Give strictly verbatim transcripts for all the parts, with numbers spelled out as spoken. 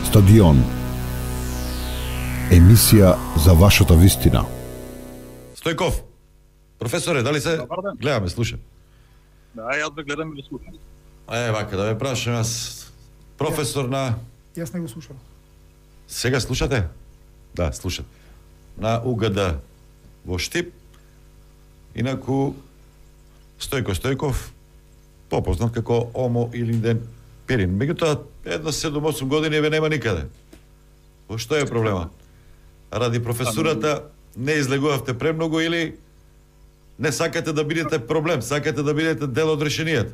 Стадион. Емисија за вашата вистина. Стојков, професоре, дали се гледаме, слушам? Да, јас ве гледам и да слушам. Е, вака, да ве прашам јас, професор на... Јас не го слушам. Сега слушате? Да, слушате. На УГД во Штип, инаку Стојко Стојков, попознат како Омо Илинден Пирин. Меѓутоа, едно седум-осум години ве нема никаде. Во што е проблема? Ради професурата не излегувавте премногу или не сакате да бидете проблем, сакате да бидете дел од решението?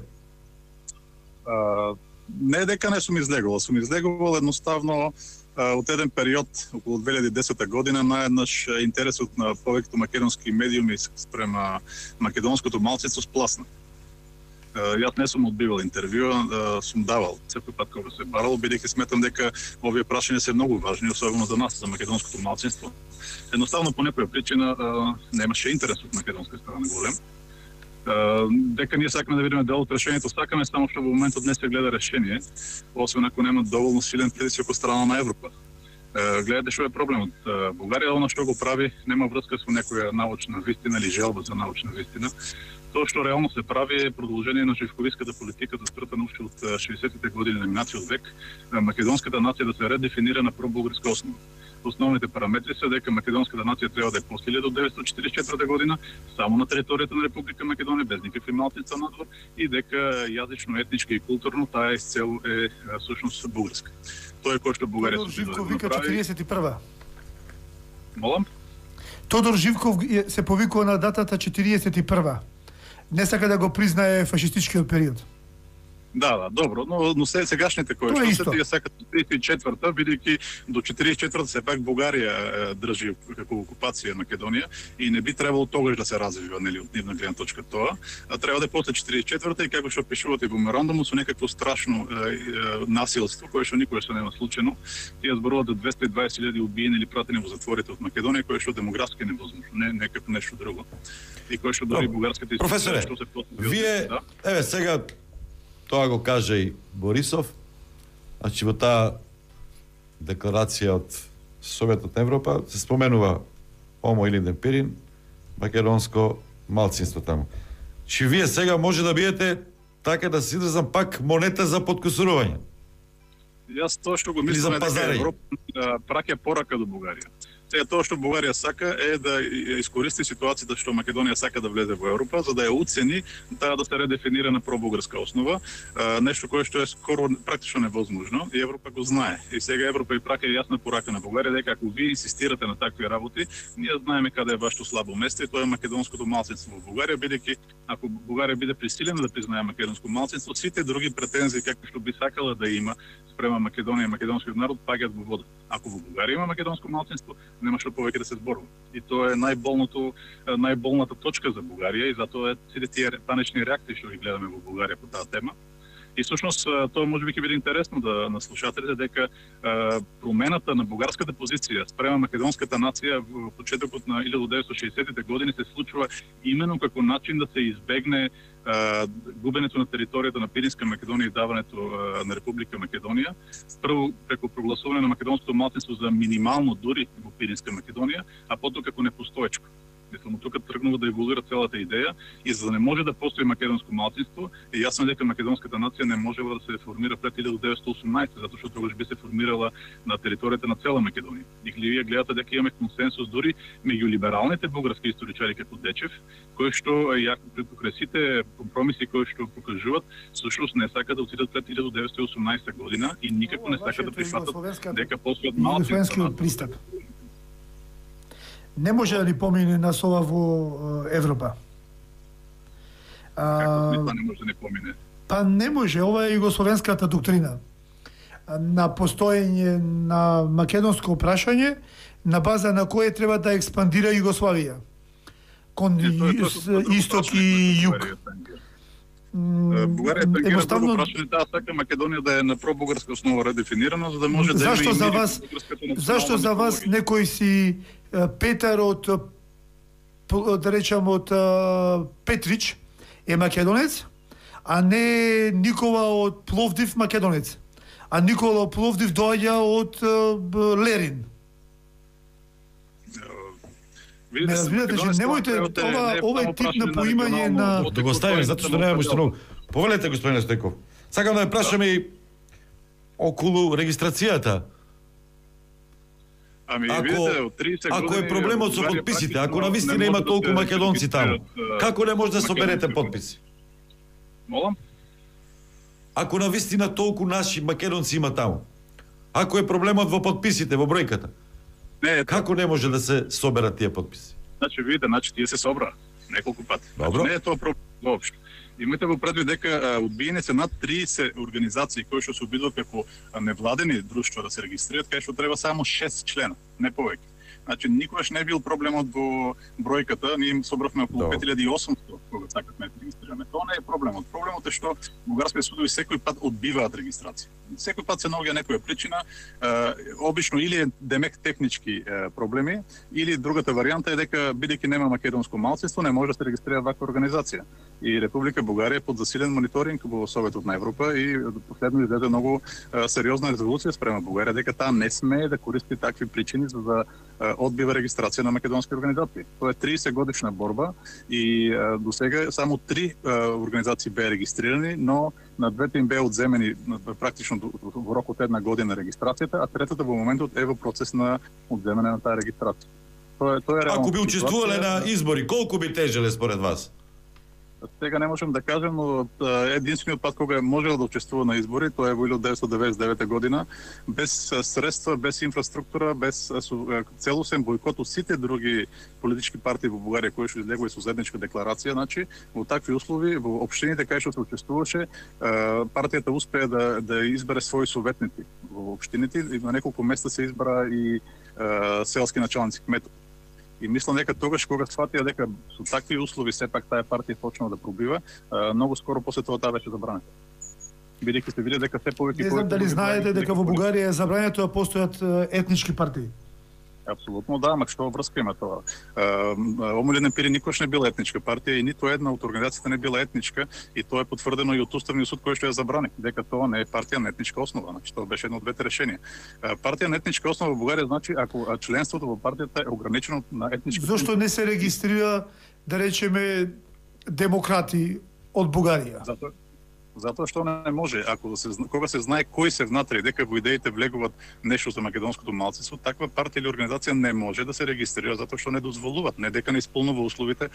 Uh, не дека не сум излегувал, сум излегувал едноставно uh, од еден период, околу две илјади и десета година, наеднаш интересот на повеќето македонски медиуми спрема македонското малцинство спласна. Uh, јас не сум одбивал интервју, uh, сум давал секој пат кога се барал, бидејќи сметам дека овие прашања се многу важни, особено за нас, за македонското малцинство. Едноставно по некоја причина uh, немаше интерес од македонска страна голем. Uh, дека ние сакаме да видиме дел од решението, сакаме, само што во моментот не се гледа решение, освен ако нема доволно силен притисок од страна на Европа. Uh, гледате што е проблемот. Uh, Бугарија, оно што го прави, нема врска со некоја научна вистина или желба за научна вистина. Тоа што реално се прави е продолжение на живковиската политика застроена уште од шеесеттите години на минатиот век, македонската нација да се редефинира на пробугарска основа. Основните параметри се дека македонската нација треба да е после илјада деветстотини четиридесет и четврта година само на територијата на Република Македонија, без никакви малцинства надвор, и дека јазично, етнички и културно таа исцело е всушност бугарска. Тоа е кој што Бугарија Тодор Живков вика четиридесет и прва. Молам? Тодор Живков се повикува на датата четиридесет и прва. Не сака да го признае фашистичкиот период. Да, да, добро, но, но се, сегашните кои што се тие сакат тридесет и четврта, бидејќи до четиридесет и четврта се пак Бугарија е, држи како окупација Македонија и не би требало тогаш да се развива, нели, од нивна гледна точка тоа, а треба да е после четиридесет и четврта и како што пишуват и во меморандумот со некакво страшно е, е, насилство кое што никогаш нема случено. Тие зборуваат до двесте и дваесет илјади убиени или пратени во затворите од Македонија, кое што демографски невозможно, не некако нешто друго. И кое што дори бугарските професоре, што се вие, да? Еве сега тоа го кажа и Борисов, значи во таа декларација од Советот на Европа се споменува Омо Илинден Пирин, македонско малцинство таму. Чи вие сега може да бидете, така да се изразам, пак монета за подкусурување? Јас тоа што го мислам е дека Европа праќа порака до Бугарија. Сега тоа што Бугарија сака е да искористи ситуацијата што Македонија сака да влезе во Европа, за да ја уцени таа да се редефинира на пробугарска основа, нешто кое што е скоро практично невозможно и Европа го знае. И сега Европа и праќа јасна порака на Бугарија дека ако вие инсистирате на такви работи, ние знаеме каде е вашето слабо место и тоа е македонското малцинство во Бугарија, бидејќи ако Бугарија биде присилена да признае македонско малцинство, сите други претензии како што би сакала да има спрема Македонија и македонскиот народ паѓаат во вода. Ако во Бугарија има македонско малцинство, нема што повеќе да се зборува. И тоа е најболното, најболната точка за Бугарија и затоа е сите тие панични реакции што ги гледаме во Бугарија по таа тема. И всушност тоа можеби ќе биде интересно да на слушателите дека а, промената на бугарската позиција спрема македонската нација во почетокот на илјада деветстотини и шеесеттите години се случува именно како начин да се избегне а, губенето на територијата на Пиринска Македонија и даването а, на Република Македонија, прво преку прогласување на македонското малцинство за минимално дури во Пиринска Македонија, а потоа како непостоечко. Мислам, тука тргнува да еволуира целата идеја и за да не може да постои македонско малцинство, е јасно дека македонската нација не можела да се формира пред илјада деветстотини и осумнаесета, затоа што тогаш би се формирала на територијата на цела Македонија. И вие гледате дека имаме консенсус дури меѓу либералните бугарски историчари како Дечев, кои што јако покрај сите компромиси кои што покажуваат, всушност не сакаат да отидат пред илјада деветстотини и осумнаесета година и никако не сакаат да прифатат дека постојат малцинства. Не може да ни помине нас ова во Европа. А, Како не може да ни помине? Па не може, ова е југословенската доктрина на постоење на македонско прашање на база на кое треба да експандира Југославија кон исток и југ. Бугарија тангира друго прашање, таа сака Македонија да е на пробугарска основа редефинирана, за да може да зашто за вас зашто за вас некој си Петар од, да речам, од Петрич е македонец, а не Никола од Пловдив македонец. а Никола Пловдив доаѓа од Лерин. Ме разбирате, че немојте ова овој тип на поимање на да го ставиме затоа што немаме што многу. Повелете, господине Стојков. Сакам да ве прашам и околу регистрацијата. Ами, ако, видите, од тридесет ако години, е проблемот со подписите, ако на вистина има толку македонци таму, како не може да соберете подписи? Молам? Ако на вистина толку наши македонци има таму, ако е проблемот во подписите, во бројката, не, како не може да се соберат тие подписи? Значи, видите, значи тие се собра неколку пати. Добро. Значи, не е тоа проблем воопшто. Имате го предвид дека одбиени се над тридесет организации кои што се обидуваат како невладени друштва да се регистрираат, кај што треба само шест члена, не повеќе. Значи никогаш не бил проблемот во бројката, ние им собравме околу пет илјади и осумстотини кога сакавме да регистрираме. Тоа не е проблемот. Проблемот е што бугарските судови секој пат одбиваат регистрација. Секој пат се наоѓа некоја причина, е, обично или е демек технички е, проблеми, или другата варијанта е дека бидејќи нема македонско малцинство, не може да се регистрира ваква организација. И Република Бугарија е под засилен мониторинг во Советот на Европа и последно издаде многу е, сериозна резолуција спрема Бугарија дека таа не смее да користи такви причини за да одбива регистрација на македонски организации. Тоа е тридесет годишна борба и е, до сега само три е, организации беа регистрирани, но на двете им беа одземени практично во рок од една година регистрацијата, а третата во моментот е во процес на одземање на таа регистрација. Тоа е тоа е реално. Ако би учествувале на избори, колку би тежеле според вас? Сега не можам да кажем, но единствениот пат кога можел да учествува на избори, тоа е во илјадесетстотини деветдесет и девета година, без средства, без инфраструктура, без целосен бојкот од сите други политички партии во Бугарија кои што излегува со заедничка декларација, значи во такви услови во општините кај што се учествуваше, партијата успеа да да избере своји советници во општините и на неколку места се избра и селски началници кметови. И мислам дека тогаш кога сфатија дека со такви услови сепак таа партија почнала да пробива, многу скоро после тоа таа беше забранета. Бидејќи се види дека се повеќе. Не знам дали знаете дека во Бугарија е забрането да постојат етнички партии. Апсолутно да, ама што врска има тоа? Омилен емпири никош не била етничка партија и ниту една од организациите не била етничка и тоа е потврдено и од Уставниот суд кој што ја забрани, дека тоа не е партија на етничка основа, значи тоа беше едно од двете решенија. Партија на етничка основа во Бугарија значи ако членството во партијата е ограничено на етнички. Зошто не се регистрира, да речеме, демократи од Бугарија? Затоа Затоа што не може, ако се кога се знае кои се внатре, дека во идеите влегуваат нешто за македонското малцинство, таква партија или организација не може да се регистрира затоа што не дозволуваат, не дека не исполнува условите.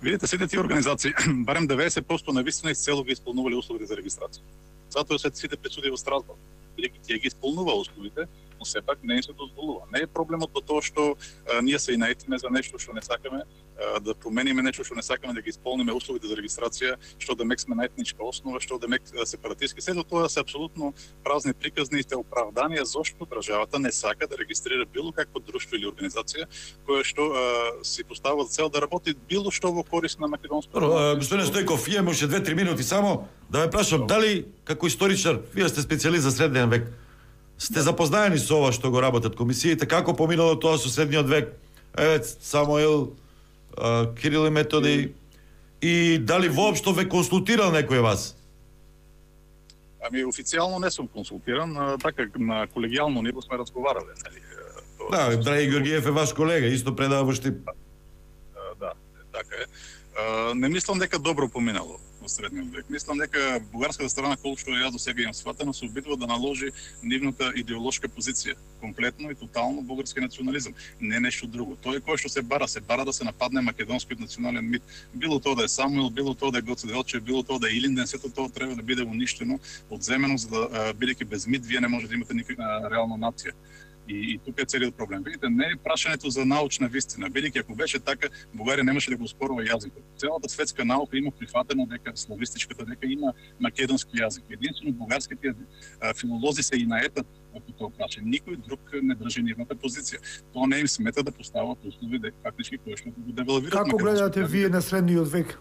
Видите, сите тие организации, барем деветдесет проценти на вистина изцело ги исполнувале условите за регистрација. Затоа се сите пресуди во Страсбург, бидејќи тие ги исполнува условите, но сепак не се дозволува. Не е проблемот во тоа што а, ние се инаетиме за нешто што не сакаме, а, да промениме нешто што не сакаме, да ги исполниме условите за регистрација, што да мек сме на етничка основа, што да мек сепаратистски. Сето тоа се апсолутно празни приказни и оправданија зошто државата не сака да регистрира било какво друштво или организација која што а, си поставува за цел да работи било што во корист на македонското. Господин Стојков, имаме уште две-три минути само да ве прашам дали како историчар, вие сте специјалист за средниот век, сте запознаени со ова што го работат комисиите, како поминало тоа со средниот век, еве Самуил, Кирил и Методи, и дали воопшто ве консултирал некој вас? Ами официјално не сум консултиран, така на колегијално ниво сме разговарале, нели? Да, Драги Георгиев е ваш колега, исто предава во Штип. Да, така е. Не мислам дека добро поминало во средниот век. Мислам дека бугарската страна, колку што ја до сега имам сватено, се обидува да наложи нивната идеолошка позиција, комплетно и тотално бугарски национализам, не нешто друго. Тоа е кое што се бара, се бара да се нападне македонскиот национален мит. Било тоа да е Самуил, било тоа да е Гоце Делчев, било тоа да е Илинден, сето тоа треба да биде уништено, одземено, за да бидејќи без мит вие не може да имате никаква реална нација. И, и тука е целиот проблем. Видите, не е прашањето за научна вистина, бидејќи ако беше така, Бугарија немаше да го спорува јазикот. Целата светска наука има прифатено дека славистичката дека има македонски јазик. Единствено бугарските филолози се и наетат ако тоа прашање. Никој друг не држи нивната позиција. Тоа не им смета да постават услови дека фактички кои што го девалвираат. Како гледате вие на средниот век?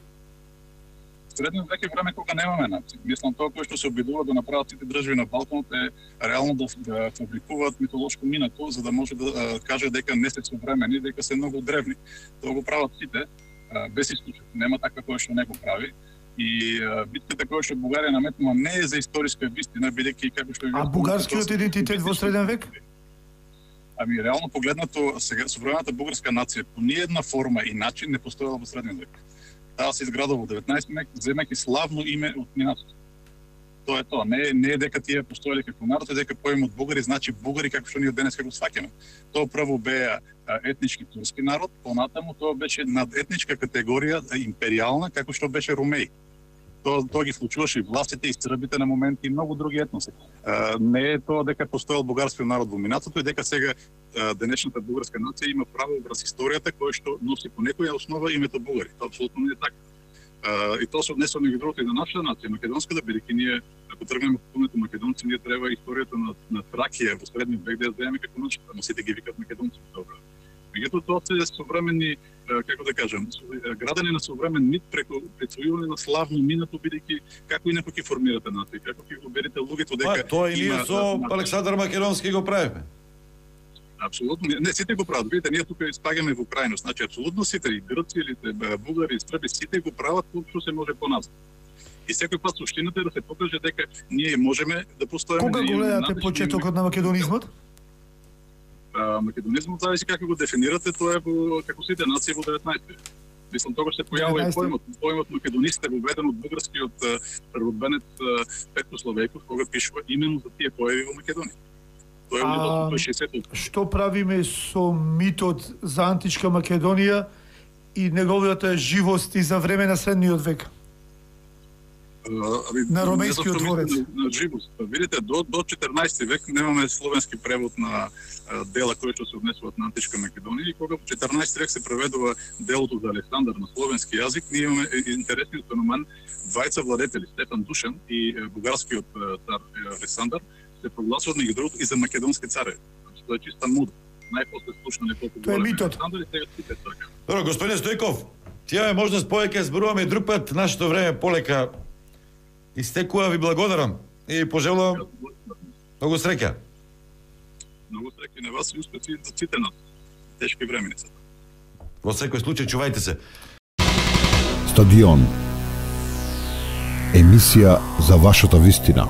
Средниот век е време кога немаме нација. Мислам тоа кој што се обидува да направат сите држави на Балканот е реално да, да фабрикуваат митолошко минато за да може да а, каже дека не се современи, дека се многу древни. Тоа го прават сите а, без исклучок. Нема така кој што не го прави. И битката која што Бугарија наметнува не е за историска вистина, бидејќи како што А бугарскиот идентитет во среден век? Ами реално погледнато, сега современата бугарска нација по ниедна форма и начин не постоела во среден век. Таа се изградува во деветнаесети век, земајќи славно име од минатото. Тоа е тоа. Не, не е дека тие постоеле како народ, е дека поемот бугари значи бугари како што ние денес како сваќаме. Тоа прво беа етнички турски народ, понатаму тоа беше надетничка категорија империјална како што беше румеи. Тоа, тоа ги вклучуваше и властите, и србите на моменти и многу други етноси. А, не е тоа дека постоел бугарски народ во минатото и дека сега а, денешната бугарска нација има право врз историјата која што носи по некоја основа името бугари. Тоа апсолутно не е така. Uh, и тоа се однесува меѓу другото и на нашата нација, македонската, бидејќи ние, ако тргнеме по пунето македонци, ние треба историјата на, на Тракија во средниот век да ја знаеме како нашата, ама сите ги викат македонци. Добро. Меѓутоа тоа се современи, како да кажам, градење на современ мит преку присвојување на славно минато, бидејќи како инаку ќе формирате нација, како ќе го берете луѓето дека па, тоа и ние со Александар Македонски го правиме. Апсолутно, не сите го прават. Видите, ние тука испагаме во крајност. Значи апсолутно сите, и грци, или бугари, и срби, сите го прават што се може поназад. И секој пат суштината е да се покаже дека ние можеме да постоиме. Кога го гледате почетокот на македонизмот? А, македонизмот зависи како го дефинирате, тоа е во како сите нации во деветнаесети век. Мислам, тогаш се појавува и поемот, поемот македонист е воведен од бугарскиот првобенец Петко Славејков, кога пишува именно за тие појави во Македонија. А, што правиме со митот за античка Македонија и неговата живост и за време на средниот век? Uh, на ромејскиот дворец. На, на живост. Видите, до, до четрнаесети век немаме словенски превод на uh, дела кои што се однесуваат на античка Македонија и кога во четрнаесети век се преведува делото за Александар на словенски јазик, ние имаме интересниот феномен двајца владетели, Стефан Душан и uh, бугарскиот uh, цар uh, Александар, се прогласуваат меѓу другото и за македонски цареви. Тоа е чиста муда. Најпосле слушна неколку тоа е митот. Добро, господин Стојков, ти имаме можност повеќе зборуваме и друг пат, нашето време полека истекува, ви благодарам и пожелувам многу среќа. Многу среќа на вас и успеси за сите нас. Тешки времени се. Во секој случај чувајте се. Стадион. Емисија за вашата вистина.